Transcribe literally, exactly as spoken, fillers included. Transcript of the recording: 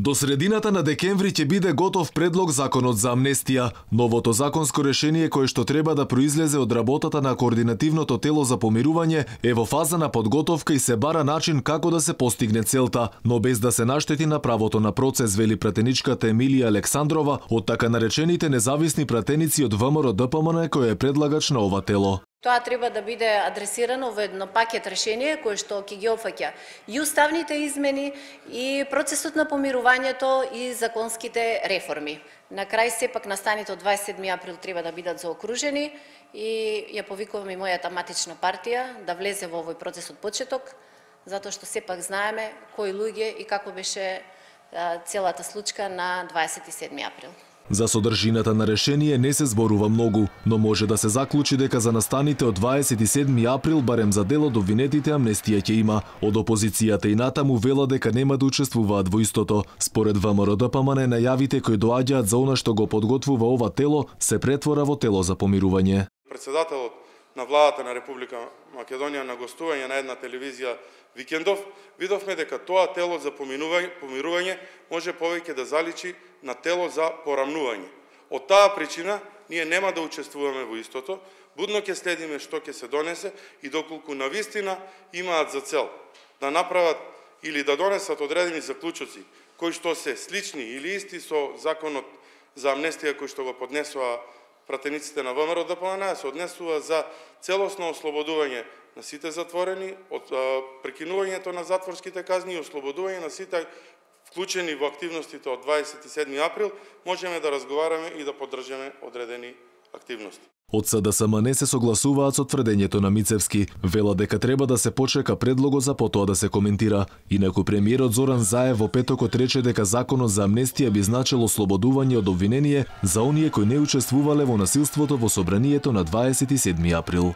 До средината на декември ќе биде готов предлог законот за амнестија. Новото законско решение кое што треба да произлезе од работата на координативното тело за помирување е во фаза на подготовка и се бара начин како да се постигне целта, но без да се наштети на правото на процес, вели пратеничката Емилија Александрова од така наречените независни пратеници од ВМРО Д П М Н кој е предлагач на ова тело. Тоа треба да биде адресирано во едно пакет решение кое што ќе ги опфаќа и уставните измени, и процесот на помирувањето, и законските реформи. На крај сепак настаните од дваесет и седми април треба да бидат заокружени и ја повикувам и мојата матична партија да влезе во овој процес од почеток, затоа што сепак знаеме кои луѓе и како беше целата случка на дваесет и седми април. За содржината на решение не се зборува многу, но може да се заклучи дека за настаните од дваесет и седми април барем за дел од обвинетите амнестија ќе има. Од опозицијата и натаму вела дека нема да учествуваат во истото. Според ВМРО Д П М Н најавите кои доаѓаат за она што го подготвува ова тело се претвора во тело за помирување. Председателот на владата на Република Македонија на гостување на една телевизија викендов видовме дека тоа тело за помирување, помирување може повеќе да заличи на тело за порамнување. Од таа причина ние нема да учествуваме во истото, будно ќе следиме што ќе се донесе и доколку навистина имаат за цел да направат или да донесат одредени заклучоци кои што се слични или исти со законот за амнестија кој што го поднесува пратениците на ВМРО Д П М Н, се однесува за целосно ослободување на сите затворени, од прекинувањето на затворските казни и ослободување на сите вклучени во активностите од дваесет и седми април, можеме да разговараме и да поддржаме одредени активности. Од С Д С М не се согласуваат со тврдењето на Мицевски. Вела дека треба да се почека предлогот за потоа да се коментира. Инаку премиерот Зоран Заев во петокот рече дека законот за амнестија би значило ослободување од обвинение за оние кои не учествувале во насилството во собранието на дваесет и седми април.